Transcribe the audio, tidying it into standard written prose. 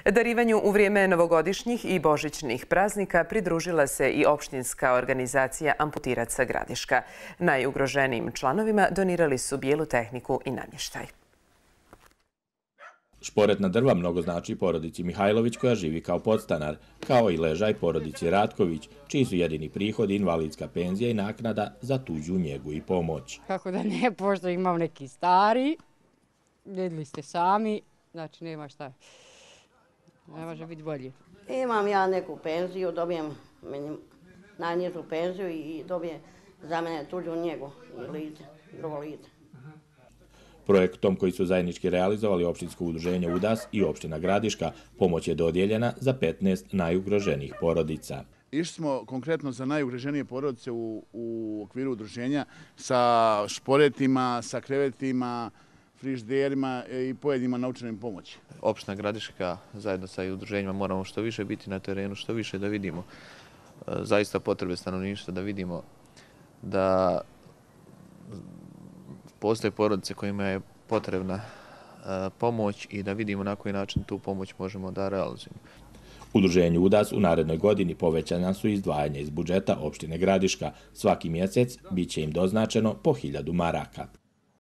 Darivanju u vrijeme novogodišnjih i božićnih praznika pridružila se i opštinska organizacija Amputiraca Gradiška. Najugroženijim članovima donirali su bijelu tehniku i namještaj. Šporetna drva mnogo znači porodici Mihajlović koja živi kao podstanar, kao i ležaj porodici Ratković, čiji su jedini prihodi invalidska penzija i naknada za tuđu njegu i pomoć. Kako da ne, pošto imam neki stari, vidjeli ste sami, znači nema šta, ne može biti bolje. Imam ja neku penziju, dobijem najnižu penziju i dobijem za mene tuđu njegu i lice, drugo lice. Projektom koji su zajednički realizovali opštinsko udruženje UDAS i opština Gradiška, pomoć je dodijeljena za 15 najugroženijih porodica. Išli smo konkretno za najugroženije porodice u okviru udruženja sa šporetima, sa krevetima, frižderima i pojedinim novčanim pomoći. Opština Gradiška zajedno sa udruženjima moramo što više biti na terenu, što više da vidimo zaista potrebe stanovništva, da vidimo da postoje porodice kojima je potrebna pomoć i da vidimo na koji način tu pomoć možemo da realizujemo. Udruženju UDAS u narednoj godini povećana su izdvajanja iz budžeta opštine Gradiška. Svaki mjesec bit će im doznačeno po 1000 maraka.